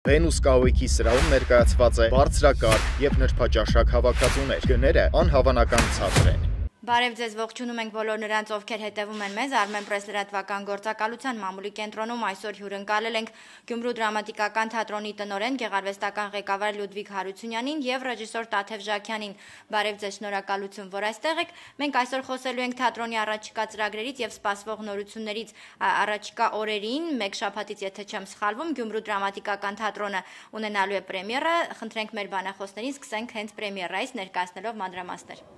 Վենուս կահույքի սրահում ներկայացված է բարձրակարգ եւ նրբաճաշակ հավաքածուներ։ Գները անհավանական ցածր են։ Բարև ձեզ, ողջունում ենք բոլոր նրանց, ովքեր հետևում են մեզ Armenpress լրատվական գործակալության մամուլի կենտրոնում այսօր հյուրընկալել ենք Գյումրու դրամատիկական թատրոնի տնօրեն, գեղարվեստական ղեկավար Լյուդվիգ Հարությունյանին եւ ռեժիսոր Տաթև Ժաքյանին։ Բարև ձեզ, շնորհակալություն, որ այստեղ եք։ Մենք այսօր խոսելու ենք թատրոնի առաջիկա ծրագրերից եւ սպասվող նորություններից առաջիկա օրերին, մեկ շաբաթից, եթե չեմ սխալվում, Գյումրու դրամատիկական թատրոնը ունենալու է պրեմիերա։ Խնդրենք մեր բանախոսներին սկսենք հենց պրեմիերայից ներկայացնելով մանրամասներ։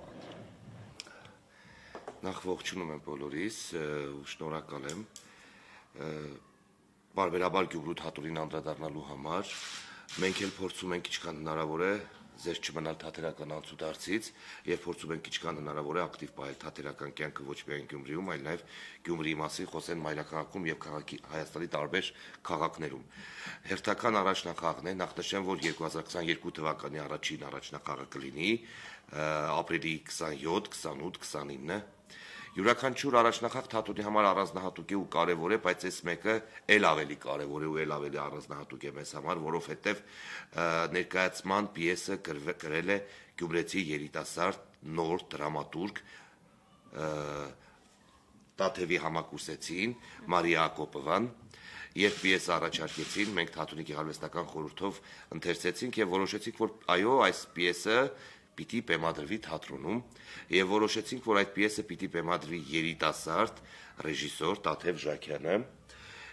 Նախ ողջունում եմ բոլորիս ու շնորհակալ եմ բարբերաբար Գյումրու թատրոնին անդրադառնալու համար։ Մենք էլ փորձում ենք ինչքան հնարավոր է ձեր չմնալ թատերական անցուդարձից եւ փորձում ենք ինչքան հնարավոր է ակտիվ պահել թատերական կյանքը ոչ միայն Գյումրիում, այլ նաեւ Գյումրիի մասին խոսեն մայրաքաղաքում եւ Հայաստանի տարբեր քաղաքներում։ Հերթական առաջնախաղն է, նախ նշեմ, որ 2022 թվականի առաջին առաջնախաղը կլինի ապրիլի 27, 28, 29 Յուրաքանչյուր առաջնախաղ թատրոնի համար առանձնահատուկ է ու կարևոր է, բայց այս մեկը էլ ավելի կարևոր է ու էլ ավելի առանձնահատուկ է մեզ համար, որովհետև ներկայացման պիեսը գրել է գյումրեցի երիտասարդ նոր դրամատուրգ Տաթևի համակուրսեցին Մարիա Ակոպովան Երբ պիեսը առաջարկեցին, մենք թատրոնի գեղարվեստական խորհրդով ընթերցեցինք եւ որոշեցինք, որ այո, այս պիեսը պիտի բեմադրվի թատրոնում եւ որոշեցինք, որ այդ պիեսը պիտի բեմադրվի երիտասարդ ռեժիսոր Տաթև Ժաքյանը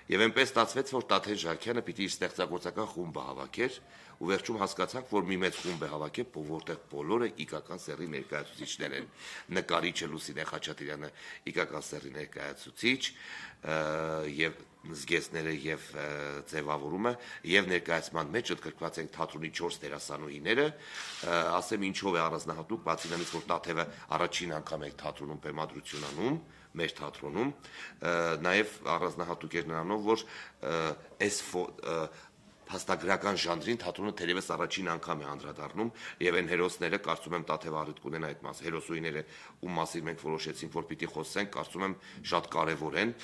եւ այնպես ստացվեց, որ Տաթև Ժաքյանը պիտի իր ստեղծագործական խումբը հավաքեր ու վերջում հասկացանք, որ մի մեծ խումբ է հավաքել, որտեղ բոլորը իգական սեռի ներկայացուցիչներ են։ Նկարիչը Լուսինե Խաչատրյանը իգական սեռի ներկայացուցիչ եւ զգեստները եւ ձևավորումը եւ ներկայացման մեջ ընդգրկված են թատրոնի 4 դերասանուհիները, ասեմ ինչով է առանձնահատուկ, բացի նրանից, որ Տաթևը առաջին անգամ է թատրոնում բեմադրություն անում, մեր թատրոնում, նաեւ առանձնահատուկ է նրանով, որ այս փաստագրական ժանրին թատրոնը թերևս առաջին անգամ է անդրադառնում եւ այն հերոսները կարծում եմ Տաթև առիթ կունեն այդ մաս հերոսուհիները ում մասին մենք որոշեցինք որ պիտի խոսենք կարծում եմ շատ կարեւոր են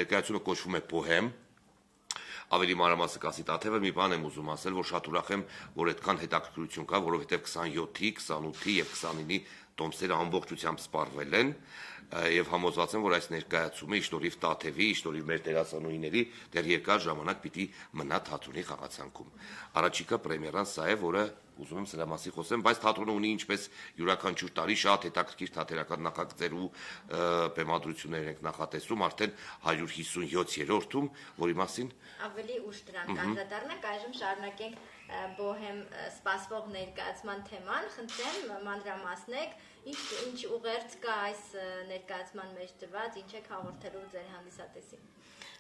ներկայացումը կոչվում է Բոհեմ ավելի մանրամասն կասի Տաթևը մի բան եմ ուզում ասել որ շատ ուրախ եմ որ այդքան հետաքրքրություն կա որովհետեւ 27-ի 28-ի եւ 29-ի տոմսերը ամբողջությամբ սպառվել են եւ համոզված եմ որ այս ներկայացումը իշտորիվ Տաթևի, իշտորիվ մեր դերասանուհիների դեռ երկար ժամանակ պիտի մնա թատրոնի խաղացանկում։ Առաջիկա պրեմիերան սա է, որը ուզում եմ սրա մասին խոսեմ, բայց թատրոնը ունի ինչպես յուրաքանչյուր տարի շատ հետաքրքիր թատերական նախագծեր ու բեմադրություններ ենք նախատեսում արդեն 157-րդում, որի մասին ավելի ուշ դրանք անդրադառնանք, այժմ շարունակենք Բոհեմ սպասվող ներկայացման թեման, խնդրեմ մանրամասնեք, ինչ ուղերձ կա այս ներկայացման մեջ դրված, ինչ եք հաղորդելու ձեր հանդիսատեսին։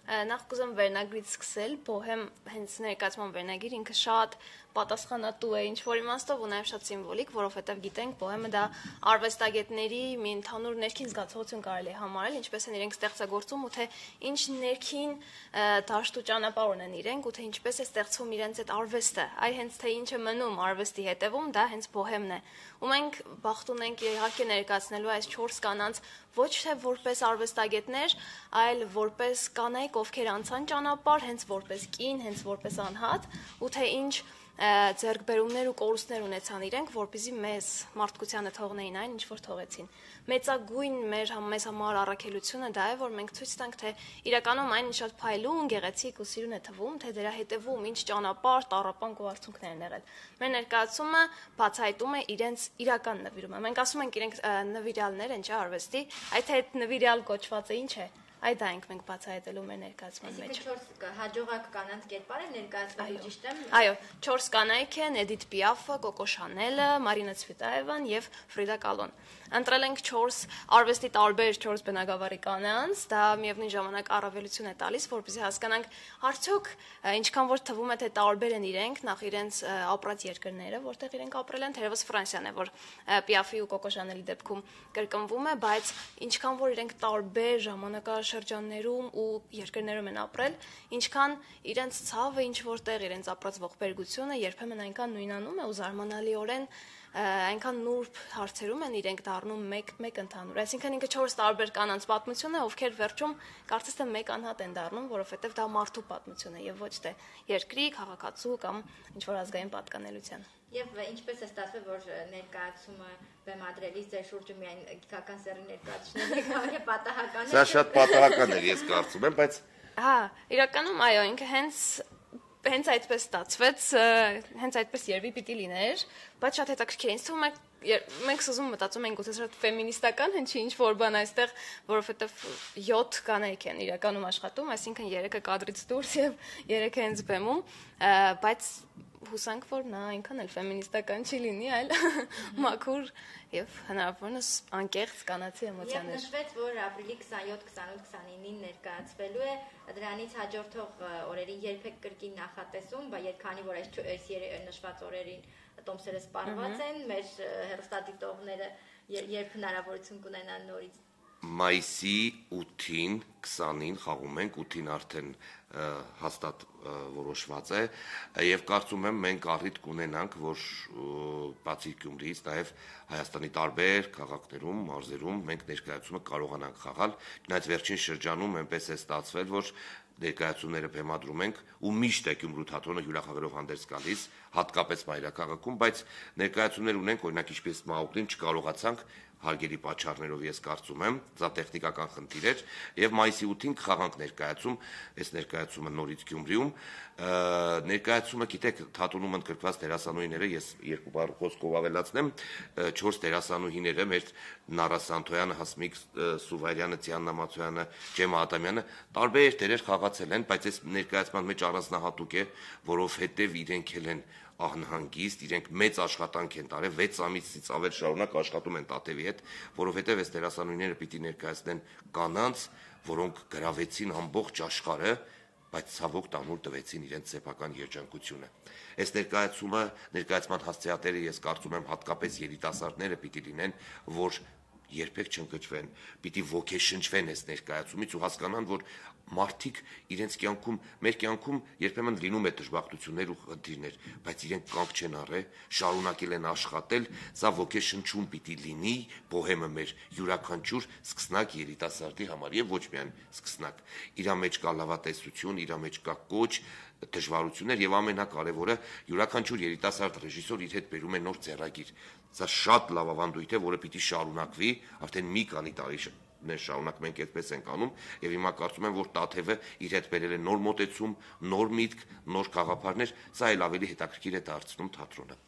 Նախ կուզեմ վերնագրից սկսել, Բոհեմ հենց ներկայացման վերնագիր ինքը շատ պատասխանատու է ինչ-որ իմաստով ու նաև շատ սիմվոլիկ, որովհետև գիտենք Բոհեմը դա արվեստագետների մի ընդհանուր ներքին զգացողություն կարելի է համարել, ինչպես են իրենք ստեղծագործում ու թե ինչ ներքին դաշտ ու ճանապարհ ունեն իրենք ու թե ինչպես է ստեղծվում իրենց այդ արվեստը, այ հենց թե ինչ է մնում արվեստի հետևում, դա հենց Բոհեմն է։ Ու մենք բախտ ունենք իհարկե ներկայացնելու այս 4 կանանց ոչ թե որպես արվեստագետներ, այլ որպես կանայք, ովքեր անցան ճանապարհ, հենց որպես կին, հենց որպես անհատ, ու թե ինչ ձեռքբերումներ ու կորուստներ ունեցան իրենք, որպեսզի մեզ մարդկությանը թողնեին այն, ինչ որ թողեցին։ Մեծագույն մեզ համար առաքելությունը դա է, որ մենք ցույց տանք, թե իրականում այն շատ փայլուն, գեղեցիկ ու սիրուն է թվում, թե դրա հետևում ինչ ճանապարհ, տառապանք ու արցունքներ են եղել։ Մեր ներկայացումը բացահայտում է իրենց իրական նվիրումը։ Մենք ասում ենք իրենք նվիրյալներ են, չէ՞, արվեստի, այդ հետ նվիրյալ կոչվածը ինչ է։ Այդ դա ենք մենք բացահայտելու մեր ներկայացման մեջ։ Այսինքն 4 հաջողակ կանանց կերպար է ներկայացվելու ճիշտ եմ։ Այո, 4 կանայք են՝ Էդիթ Պիաֆը, Կոկո Շանելը, Մարինա Ցվիտաևան եւ Ֆրիդա Կալոն։ Ընտրել ենք 4 արվեստի տարբեր 4 բնագավառի կանանց, դա միևնույն ժամանակ առավելություն է տալիս, որպեսզի հասկանանք արդյոք ինչքան որ թվում է թե տարբեր են իրենք, նախ իրենց ապրած երկրները, որտեղ իրենք ապրել են, թերևս Ֆրանսիան է, որ Պիաֆի ու Կոկո Շանելի դեպքում կրկնվում է, բայց ինչքան որ իրենք տարբեր ժամանակաշրջաններում ու երկրներում են ապրել, ինչքան իրենց ցավը ինչ որտեղ իրենց ապրած ողբերգությունը երբեմն այնքան նույնանում է ու զարմանալիորեն այնքան նուրբ հարցերում են իրենք դառնում մեկ ընդհանուր։ Այսինքն ինքը 4 տարբեր կանանց պատմություն է, ովքեր վերջում կարծես թե մեկ անհատ են դառնում, որովհետև դա մարդու պատմություն է եւ ոչ թե երկրի, քաղաքացու կամ ինչ որ ազգային պատկանելության։ Եվ ինչպես է ստացվել, որ ներկայացումը բեմադրելիս ձեր շուրջը միայն գիտական սեռի ներկայացուցիչների պատահական է։ Սա շատ պատահական է, ես կարծում եմ, բայց Հա, իրականում այո, ինքը հենց այդպես ստացվեց, հենց այդպես երևի պիտի լիներ, բայց շատ հետաքրքիր է, ինձ թվում է մենք սուզում մտածում ենք գուցե շատ ֆեմինիստական հնչի ինչ որ բան այստեղ, որովհետև 7 կանայք են իրականում աշխատում, այսինքն 3-ը կադրից դուրս եւ 3-ը հենց բեմում, բայց հուսանք, որ նա այնքան էլ ֆեմինիստական չի լինի, այլ մաքուր եւ հնարավորինս անկեղծ կանացի էմոցիաներ։ Եվ նշվեց, որ ապրիլի 27, 28, 29-ին ներկայացվելու է, դրանից հաջորդող օրերին երբեք կրկին նախատեսում, բայց քանի որ այս նշված օրերին տոմսերը սպառված են, մեր հեռուստադիտողները երբ հնարավորություն կունենան նորից մայիսի 8-ին, 20-ին խաղում ենք, 8-ին արդեն հաստատ որոշված է եւ կարծում եմ մենք առիթ կունենանք, որ բացի Գյումրիից նաեւ Հայաստանի տարբեր քաղաքներում, մարզերում մենք ներկայացումը կարողանանք խաղալ։ Չնայած վերջին շրջանում այնպես է ստացվել, որ ներկայացումները բեմադրում ենք ու միշտ է Գյումրու թատրոնը հյուրախաղերով հանդերձ գալիս, հատկապես մայրաքաղաքում, բայց ներկայացումներ ունենք, օրինակ ինչպես Մաուկլին չկարողացանք հարգելի պատճառներով ես կարծում եմ, դա տեխնիկական խնդիր էր եւ մայիսի 8-ին կխաղանք ներկայացում, այս ներկայացումը նորից Գյումրիում, ներկայացումը գիտեք թատրոնում ընդգրկված դերասանուհիները, ես երկու բառ խոսքով ավելացնեմ, 4 դերասանուհիները մեր Նարա Սանթոյանը, Հասմիկ Սուվայրյանը, Ծիաննա Մացոյանը, Ջեմա Ադամյանը տարբեր դերեր խաղացել են, բայց այս ներկայացման մեջ առանձնահատուկ է, որովհետեւ իրենք են անհանգիստ, իրենք մեծ աշխատանք են տարել, 6 ամիսից ավել շարունակ աշխատում են Տատևի հետ, որովհետև այս դերասանուհիները պիտի ներկայացնեն կանանց, որոնք գրավեցին ամբողջ աշխարհը, բայց ցավոք տանուլ տվեցին իրենց սեփական երջանկությունը։ Այս ներկայացման հասցեատերը ես կարծում եմ հատկապես երիտասարդները պիտի լինեն, որ երբեք չընկճվեն, պիտի ոգեշնչվեն այս ներկայացումից ու հասկանան, որ մարդիկ իրենց կյանքում, մեր կյանքում երբեմն լինում է դժբախտություններ ու խնդիրներ, բայց իրենք կանգ չեն առել, շարունակել են աշխատել, սա ոգեշնչում պիտի լինի բոհեմը մեր յուրաքանչյուր սկսնակ երիտասարդի համար եւ ոչ միայն սկսնակ։ Իրա մեջ կա լավատեսություն, իրա մեջ կա կոչ, դժվարություններ եւ ամենակարևորը յուրաքանչյուր երիտասարդ ռեժիսոր իր հետ բերում է նոր ձեռագիր։ Սա շատ լավ ավանդույթ է, որը պիտի շարունակվի, արդեն մի քանի տարի շարունակ մենք այդպես ենք անում եւ հիմա կարծում եմ, որ Տաթևը իր հետ բերել է նոր մոտեցում, նոր միտք, նոր գաղափարներ, սա էլ ավելի հետաքրքիր է դարձնում թատրոնը։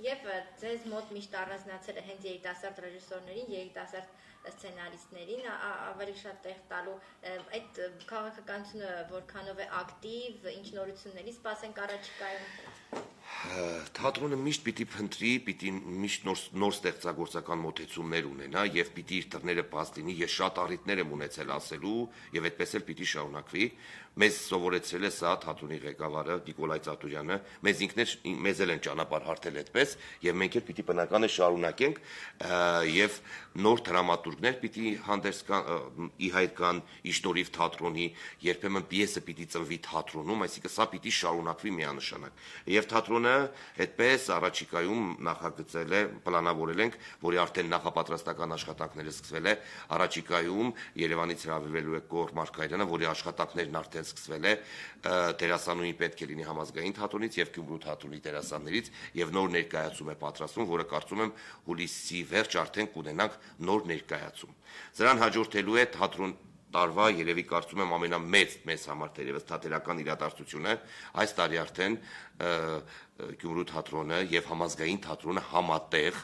Եվ ձեզ մոտ միշտ առանձնացել է հենց երիտասարդ ռեժիսորներին, երիտասարդ սցենարիստներին ավելի շատ տեղ տալու այդ քաղաքականությունը որքանով է ակտիվ, ինչ նորությունների սպասենք առաջիկայում։ Թատրոնը միշտ պիտի փնտրի, պիտի միշտ նոր ստեղծագործական մոտեցումներ ունենա եւ պիտի իր դռները բաց լինի, ես շատ առիթներ եմ ունեցել ասելու եւ այդպես էլ պիտի շարունակվի։ Մեզ սովորեցրել է սա թատրոնի ղեկավարը Նիկոլայ Ծատուրյանը, մեզ էլ են ճանապարհ հարթել այդպես եւ մենք էլ պիտի բնական է շարունակենք եւ նոր դրամատուրգներ պիտի հանդերձ կան, ի հայտ կան իշնորհիվ թատրոնի, երբեմն պիեսը պիտի ծնվի թատրոնում, այսինքն սա պիտի շարունակվի միանշանակ։ Եվ թատրոնը այդպես առաջիկայում նախագծել է, պլանավորել ենք, որի արդեն նախապատրաստական աշխատանքները սկսվել է, առաջիկայում Երևանից հրավիրվելու է Գոռ Մարգարյանը, որի աշխատանքներն արդեն սկսվել է, դերասանուհին պետք է լինի համազգային թատրոնից եւ Գյումրու թատրոնի դերասաններից եւ նոր ներկայացում է պատրաստվում, որը կարծում եմ հուլիսի վերջ արդեն կունենանք նոր ներկայացում։ Սրան հաջորդելու է թատրոն տարվա երևի կարծում եմ ամենամեծ մեզ համար թերևս թատերական իրադարձությունը, այս տարի արդեն Գյումրու թատրոնը եւ համազգային թատրոնը համատեղ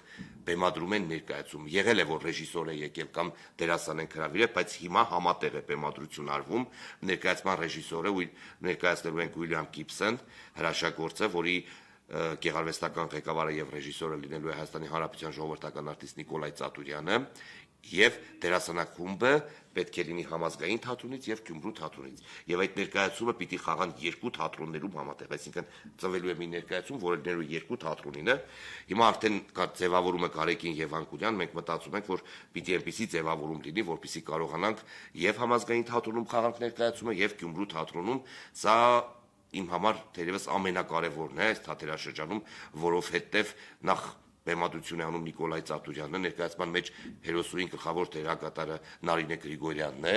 բեմադրում են ներկայացում։ Եղել է որ ռեժիսոր է եկել կամ դերասան են հրավիրել, բայց հիմա համատեղ է բեմադրություն արվում։ Ներկայացման ռեժիսորը ներկայացնելու են Ուիլյամ Գիբսոն, հրաշագործը, որի գեղարվեստական ղեկավարը եւ ռեժիսորը լինելու է Հայաստանի Հանրապետության ժողովրդական արտիստ Նիկոլայ Ծատուրյանը եւ դերասանախումբը պետք է լինի համազգային թատրոնից եւ Գյումրու թատրոնից եւ այդ ներկայացումը պիտի խաղան երկու թատրոններում համատեղ, այսինքն ծնվելու է մի ներկայացում, որը ներու երկու թատրոնին է։ Հիմա արդեն կա ձևավորումը Գարեգին եւ Անկունյան, մենք մտածում ենք, որ պիտի այնպիսի ձևավորում լինի, որպեսզի կարողանանք եւ համազգային թատրոնում խաղանք ներկայացումը եւ Գյումրու թատրոնում, սա իմ համար թերևս ամենակարևորն է այս թատերաշրջանում, որովհետեւ նախ բեմադրություն է անում Նիկոլայ Ծատուրյանն, ներկայացման մեջ հերոսուհին գլխավոր դերակատարը Նարինե Գրիգորյանն է,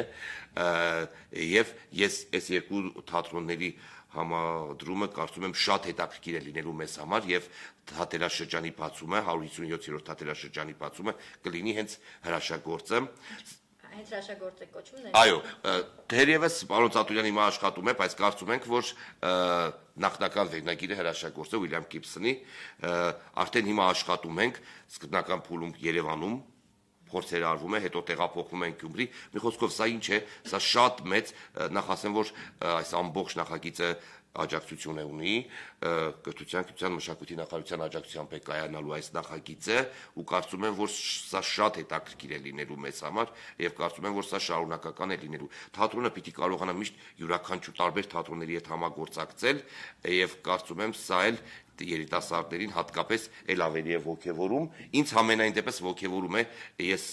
եւ ես այս երկու թատրոնների համադրումը կարծում եմ շատ հետաքրքիր է լինելու մեզ համար եւ թատերաշրջանի բացումը 157-րդ թատերաշրջանի բացումը կլինի հենց հրաշագործը Հենց հրաշագործ է կոչվում։ Այո, թերևս պարոն Ծատուրյանը հիմա աշխատում է, բայց կարծում ենք, որ նախնական վերնագիրը հրաշագործը Ուիլյամ Գիբսոնի արդեն հիմա աշխատում ենք սկզբնական փուլում Երևանում փորձեր արվում է, հետո տեղափոխվում են Գյումրի։ Մի խոսքով սա ինչ է, սա շատ մեծ, նախ ասեմ, որ այս ամբողջ նախագիծը աջակցություն է ունի կրթության, գիտության, մշակույթի նախարարության աջակցությամբ է կայանալու այս նախագիծը ու կարծում եմ, որ սա շատ հետաքրքիր է լինելու մեզ համար եւ կարծում եմ, որ սա շարունակական է լինելու։ Թատրոնը պիտի կարողանա միշտ յուրաքանչյուր տարբեր թատրոնների հետ համագործակցել եւ կարծում եմ սա էլ երիտասարդներին հատկապես էլ ավելի է ոգևորում, ինձ համենայն դեպս ոգևորում է, ես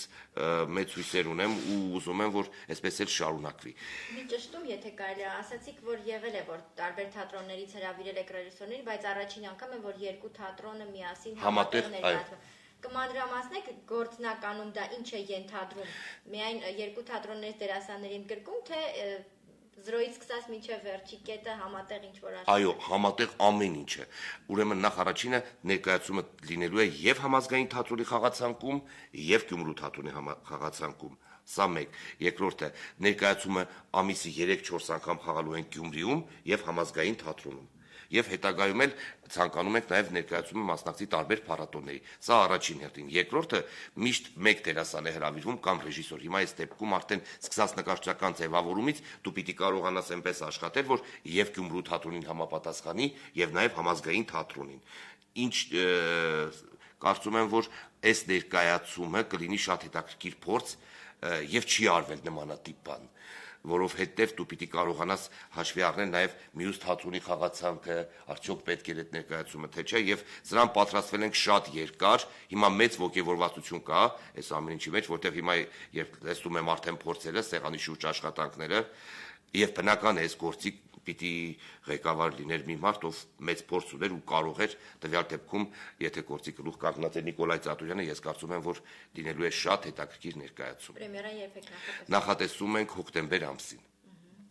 մեծ հույսեր ունեմ ու ուզում եմ, որ այսպես էլ շարունակվի։ Մի ճշտում, եթե կարելի է, ասացիք, որ եղել է, որ տարբեր թատրոններից հրավիրել եք ռեժիսորներին, բայց առաջին անգամ է, որ երկու թատրոնը միասին համատեղ ներկայացվում։ Կմանրամասնեք գործնականում դա ինչ է ենթադրում։ Միայն երկու թատրոններից դերասանների ընդգրկում, թե 0-ից սկսած մինչև վերջի կետը համատեղ ինչ-որ աշխատում։ Այո, համատեղ ամեն ինչ է։ Ուրեմն նախ առաջինը ներկայացումը լինելու է եւ համազգային թատրոնի խաղացանկում, եւ Գյումրու թատրոնի խաղացանկում։ Սա մեկ։ Երկրորդը ներկայացումը ամիսի 3-4 անգամ խաղալու են Գյումրիում եւ համազգային թատրոնում։ Եվ հետագայում էլ ցանկանում ենք նաև ներկայացումը մասնակցի տարբեր փառատոների։ Սա առաջին հերթին։ Երկրորդը միշտ մեկ դերասան է հրավիրվում կամ ռեժիսոր։ Հիմա այս դեպքում արդեն սկսած նկարչական ձևավորումից դու պիտի կարողանաս այնպես աշխատել, որ եւ Գյումրու թատրոնին համապատասխանի եւ նաև համազգային թատրոնին։ Ինչ կարծում եմ, որ այս ներկայացումը կլինի շատ հետաքրքիր փորձ եւ չի արվել նմանատիպ բան, որովհետև դու պիտի կարողանաս հաշվի առնել նաև մյուս թատրոնի խաղացանքը, արդյոք պետք է այդ ներկայացումը թե չէ, եւ սրան պատրաստվել ենք շատ երկար, հիմա մեծ ոգևորվածություն կա այս ամեն ինչի մեջ, որտեղ հիմա երբ տեսնում եմ արդեն փորձերը, սեղանի շուրջ աշխատանքները, եւ բնական է այս գործի պիտի ղեկավար լիներ մի մարդ, ով մեծ փորձ ուներ ու կարող էր տվյալ դեպքում, եթե գործի գլուխ կանգնած է Նիկոլայ Ծատուրյանը, ես կարծում եմ, որ լինելու է շատ հետաքրքիր ներկայացում։ Պրեմիերան երբ եք նախատեսում ենք հոկտեմբեր ամսին։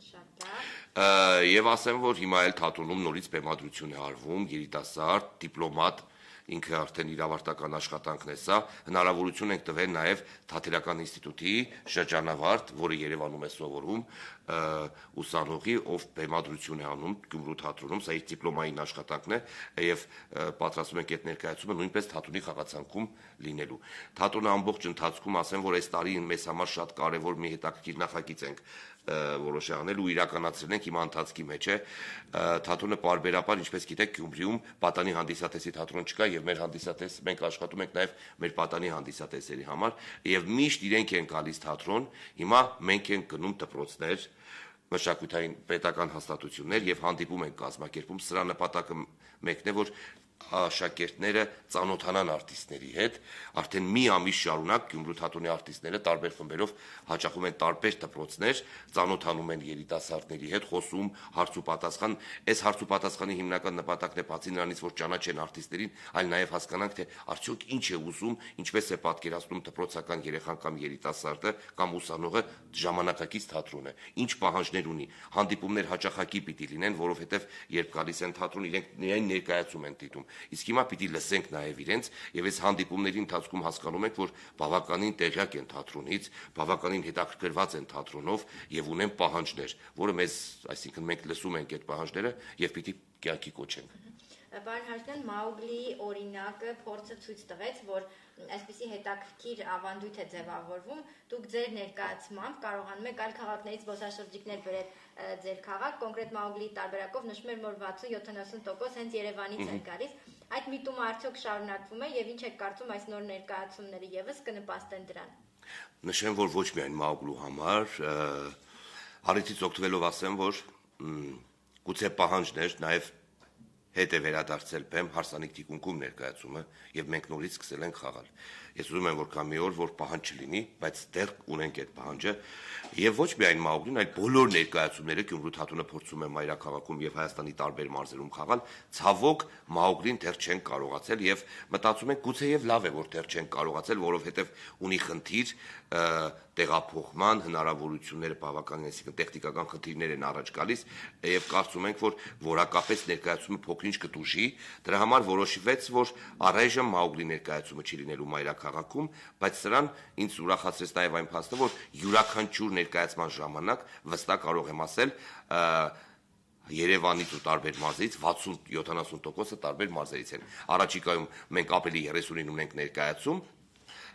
Շատ լավ։ Եվ ասեմ, որ հիմա էլ թատրոնում նորից բեմադրություն է արվում, երիտասարդ, դիպլոմատ, ինքը արդեն իր ավարտական աշխատանքն է սա, հնարավորություն ենք տվել նաև Թատերական ինստիտուտի շրջանավարտ, որը Երևանում է սովորում, ուսանողի, ով բեմադրություն է անում Գյումրու թատրոնում, սա իր դիպլոմային աշխատանքն է, եւ պատրաստում ենք այդ ներկայացումը նույնպես թատրոնի խաղացանկում լինելու։ Թատրոնի ամբողջ ընթացքում ասեմ, որ այս տարի մեզ համար շատ կարևոր մի հետաքրքիր նախագիծ ենք որոշ անել ու իրականացրել ենք հիմա ընթացքի մեջ է թատրոնը պարբերաբար ինչպես գիտեք Գյումրիում պատանի հանդիսատեսի թատրոն չկա եւ մեր հանդիսատես մենք աշխատում ենք նաեւ մեր պատանի հանդիսատեսերի համար եւ միշտ իրենք են գալիս թատրոն հիմա մենք ենք գնում դպրոցներ մշակութային պետական հաստատություններ եւ հանդիպում ենք կազմակերպում սրա նպատակը մեկն է որ աշակերտները ծանոթանան արտիստների հետ, արդեն մի ամիս շարունակ Գյումրու թատրոնի արտիստները տարբեր խմբերով հաճախում են տարբեր դպրոցներ, ծանոթանում են երիտասարդների հետ, խոսում, հարց ու պատասխան, այս հարց ու պատասխանի հիմնական նպատակն է բացի նրանից, որ ճանաչեն արտիստերին, այլ նաև հասկանանք, թե արդյոք ինչ է ուզում, ինչպես է պատկերացնում դպրոցական երեխան կամ երիտասարդը կամ ուսանողը ժամանակակից թատրոնը, ինչ պահանջներ ունի, հանդիպումներ հաճախակի պիտի լինեն, որովհետև երբ գալիս են թատրոն, իրենք միայն ներկայացում են դիտում Իսկ հիմա պիտի լսենք նաև իրենց եւ այս հանդիպումների ընթացքում հասկանում ենք, որ բավականին տեղյակ են թատրոնից, բավականին հետաքրքրված են թատրոնով եւ ունեն պահանջներ, որը մեզ, այսինքն մենք լսում ենք այդ պահանջները եւ պիտի կյանքի կոչենք։ Պարոն Հաշնյան, Մաուգլիի օրինակը փորձը ցույց տվեց, որ այսպիսի հետաքրքիր ավանդույթ է ձևավորվում, դուք ձեր ներկայացմամբ կարողանում եք այլ քաղաքներից զբոսաշրջիկներ բերել ձեր քաղաք, կոնկրետ Մաուգլիի տարբերակով նշում եմ, որ 60-70% հենց Երևանից են գալիս։ Այդ միտումը արդյոք շարունակվում է եւ ինչ եք կարծում այս նոր ներկայացումները եւս կնպաստեն դրան։ Նշեմ, որ ոչ միայն Մաուգլու համար, հարցից օգտվելով ասեմ, որ գուցե պահանջներ նաև հետ է վերադարձել բեմ հարսանիք թիկունքում ներկայացումը եւ մենք նորից սկսել ենք խաղալ։ Ես ուզում եմ որ կա մի օր որ պահանջ չլինի, բայց դեռ ունենք այդ պահանջը եւ ոչ միայն Մաուգլին, այլ բոլոր ներկայացումները Գյումրու թատրոնը փորձում է մայրաքաղաքում եւ Հայաստանի տարբեր մարզերում խաղալ, ցավոք Մաուգլին դեռ չեն կարողացել եւ մտածում ենք գուցե եւ լավ է որ դեռ չեն կարողացել, որովհետեւ ունի խնդիր տեղափոխման հնարավորությունները բավականին, այսինքն տեխնիկական խնդիրներ են առաջ գալիս եւ կարծում ենք որ որակապես ներկայացումը փոքրինչ կտուժի, դրա համար որոշվեց որ առայժմ Մաուգլի ներկայացումը չի լինելու մայրաքաղաքում, բայց սրան ինձ ուրախացրեց նաեւ այն փաստը որ յուրաքանչյուր ներկայացման ժամանակ վստահ կարող եմ ասել Երևանից ու տարբեր մարզերից 60-70% տարբեր մարզերից են։ Առաջիկայում մենք ավելի 30-ին ունենք ներկայացում,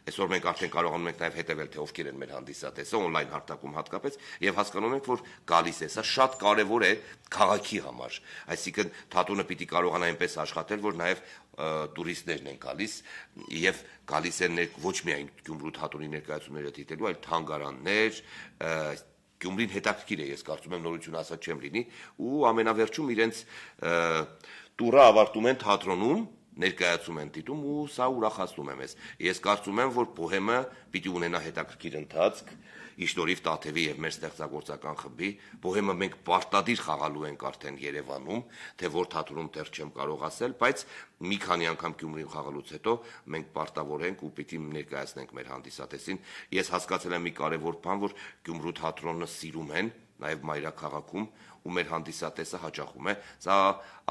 այսօր մենք արդեն կարողանում ենք նաև հետևել թե ովքեր են մեր հանդիսատեսը on-line հարթակում հատկապես եւ հասկանում ենք որ գալիս է, սա շատ կարեւոր է քաղաքի համար, այսինքն թատրոնը պիտի կարողանա այնպես աշխատել որ նաև տուրիստներն են գալիս եւ գալիս են ոչ միայն Գյումրու թատրոնի ներկայացումները դիտելու, այլ թանգարաններ, Գյումրին հետաքրքիր է, ես կարծում եմ նորություն ասած չեմ լինի ու ամենավերջում իրենց տուրը ավարտում են թատրոնում ներկայացում են դիտում ու սա ուրախացնում է մեզ։ Ես կարծում եմ, որ Բոհեմը պիտի ունենա հետաքրքիր ընթացք, իշնորհիվ Տաթևի եւ մեր ստեղծագործական խմբի։ Բոհեմը մենք պարտադիր խաղալու ենք արդեն Երևանում, թե որ թատրոնում դեռ չեմ կարող ասել, բայց մի քանի անգամ Գյումրին խաղալուց հետո մենք պարտավոր ենք ու պիտի ներկայացնենք մեր հանդիսատեսին։ Ես հասկացել եմ մի կարևոր բան, որ Գյումրու թատրոնը սիրում են նաև մայրաքաղաքում ու մեր հանդիսատեսը հաճախում է, սա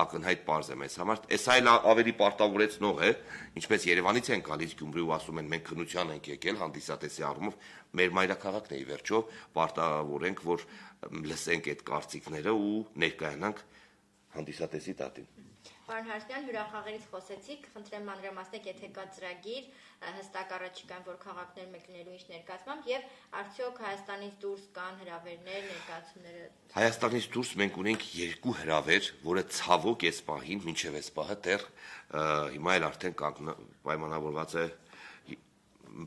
ակնհայտ պարզ է մեզ համար, այս այլ ավելի պարտավորեցնող է, ինչպես Երևանից են գալիս Գյումրի ու ասում են մենք քննության ենք եկել հանդիսատեսի առումով, մեր մայրաքաղաքն է ի վերջո, պարտավորենք, որ լսենք այդ կարծիքները ու ներկայանանք հանդիսատեսի տատին։ Պարոն Հարությունյան, հյուրախաղերից խոսեցիք, խնդրեմ մանրամասնեք, եթե կա ծրագիր, հստակ առաջիկայում որ քաղաքներ մեկ լինելու ինչ ներկայացմամբ եւ արդյոք Հայաստանից դուրս կան հրավերներ, ներկայացումները։ Հայաստանից դուրս մենք ունենք 2 հրավեր, որը ցավոք այս պահին, մինչև այս պահը դեռ հիմա էլ արդեն պայմանավորված է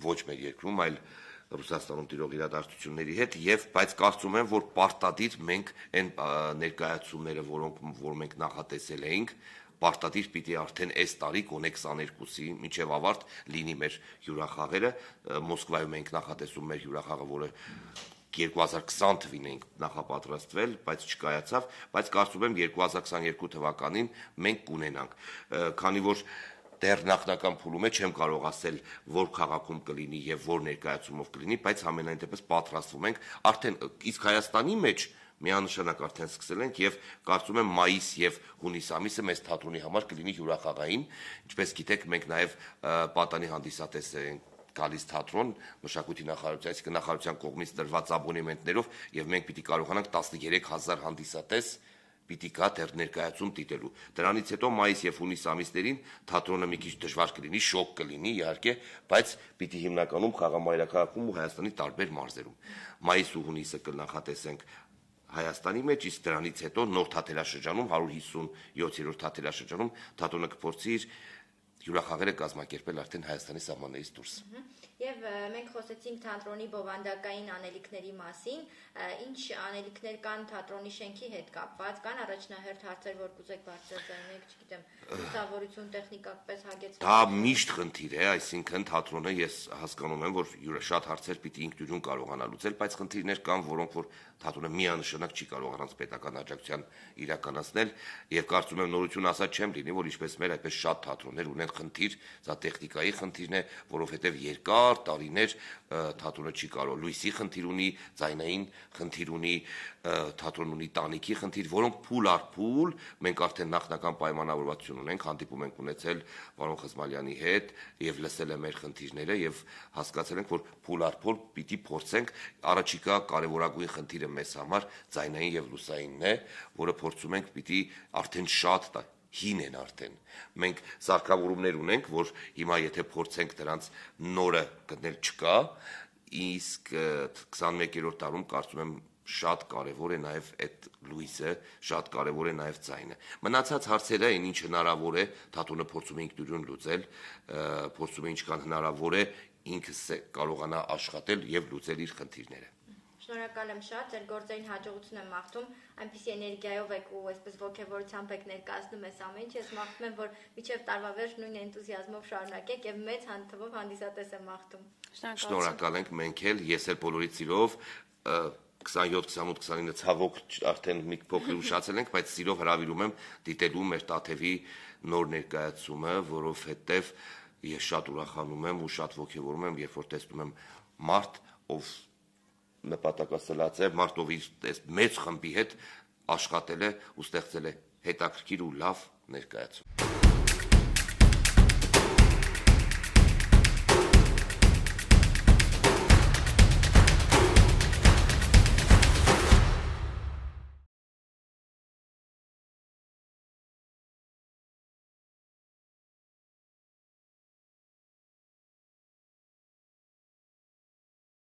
ոչ մեր երկրում, այլ Ռուսաստանում տիրող իրադարձությունների հետ եւ բայց կարծում եմ որ պարտադիր մենք այն ներկայացումները որ մենք նախատեսել էինք պարտադիր պիտի արդեն այս տարի կոնե 22-ի մինչև ավարտ լինի մեր հյուրախաղերը Մոսկվայում ենք նախատեսում մեր հյուրախաղը որը 2020 թվին ենք նախապատրաստվել, բայց չկայացավ, բայց կարծում եմ 2022 թվականին մենք կունենանք, քանի որ դեռ նախնական փուլում է, չեմ կարող ասել, որ քաղաքում կլինի եւ որ ներկայացումով կլինի, բայց ամենայն դեպս պատրաստվում ենք, արդեն իսկ Հայաստանի մեջ միանշանակ արդեն սկսել ենք եւ կարծում եմ մայիս եւ հունիս ամիսը մեծ թատրոնի համար կլինի հյուրախաղային, ինչպես գիտեք, մենք նաեւ պատանի հանդիսատես ենք գալիս թատրոն մշակույթի նախարարության, այսինքն նախարարության կողմից տրված աբոնեմենտներով եւ մենք պիտի կարողանանք 13000 հանդիսատես պիտի կա դեռ ներկայացում դիտելու։ Դրանից հետո մայիս եւ հունիս ամիսներին թատրոնը մի քիչ դժվար կլինի, շոկ կլինի իհարկե, բայց պիտի հիմնականում խաղամայրաքաղաքում ու Հայաստանի տարբեր մարզերում։ Մայիս ու հունիսը կնախատեսենք Հայաստանի մեջ, իսկ դրանից հետո նոր թատերաշրջանում 157-րդ թատերաշրջանում թատրոնը կփորձի իր հյուրախաղերը կազմակերպել արդեն Հայաստանի սահմաններից դուրս։ Եվ մենք խոսեցինք թատրոնի բովանդակային անելիքների մասին, ինչ անելիքներ կան թատրոնի շենքի հետ կապված, կան առաջնահերթ հարցեր, որ կուզեք բարձրաձայնեք, չգիտեմ, լուսավորություն տեխնիկապես հագեցված։ Դա միշտ խնդիր է, այսինքն թատրոնը ես հասկանում եմ, որ շատ հարցեր պիտի ինքնուրույն կարողանա լուծել, բայց խնդիրներ կան, որոնք որ թատրոնը միանշանակ չի կարող առանց պետական աջակցության իրականացնել, եւ կարծում եմ նորություն ասած չեմ լինի, որ ինչպես մեր այդպես շատ թատրոններ ունեն խնդիր, սա տեխնիկայի խնդիրն է, որովհետեւ երկար տարիներ թատրոնը չի կարող, լույսի խնդիր ունի, ձայնային խնդիր ունի, թատրոն ունի տանիքի խնդիր, որոնք փուլ առ փուլ մենք արդեն նախնական պայմանավորվածություն ունենք, հանդիպում ենք ունեցել պարոն Խզմալյանի հետ եւ լսել է մեր խնդիրները եւ հասկացել ենք, որ փուլ առ փուլ պիտի փորձենք առաջիկա կարևորագույն խնդիրը մեզ համար ձայնային եւ լուսայինն է, որը փորձում ենք պիտի արդեն շատ հին են արդեն։ Մենք սարքավորումներ ունենք, որ հիմա եթե փորձենք դրանց նորը գտնել չկա, իսկ 21-րդ տարում կարծում եմ շատ կարևոր է նաև այդ լույսը, շատ կարևոր է նաև ձայնը։ Մնացած հարցերը այն ինչ հնարավոր է, թատրոնը փորձում է ինքնուրույն լուծել, փորձում է ինչքան հնարավոր է ինքս կարողանա աշխատել եւ լուծել իր խնդիրները։ Շնորհակալ եմ շատ, ձեր գործերին հաջողություն եմ մաղթում, այնպիսի էներգիայով եք ու այսպես ոգևորությամբ եք ներկայացնում այս ամեն ինչ, ես մաղթում եմ, որ մինչև տարվա վերջ նույն էնտուզիազմով շարունակեք եւ մեծ թվով հանդիսատես եմ մաղթում։ Շնորհակալ ենք մենք էլ, ես էլ բոլորից սիրով 27, 28, 29 ցավոք արդեն մի փոքր ուշացել ենք, բայց սիրով հրավիրում եմ դիտելու մեր Տաթևի նոր ներկայացումը, որովհետեւ ես շատ ուրախանում եմ ու շատ ոգևորում եմ, երբ որ տեսնում եմ մարդ, ով նպատակասլաց է, մարդ, ով իր մեծ խմբի հետ աշխատել է ու ստեղծել է հետաքրքիր ու լավ ներկայացում։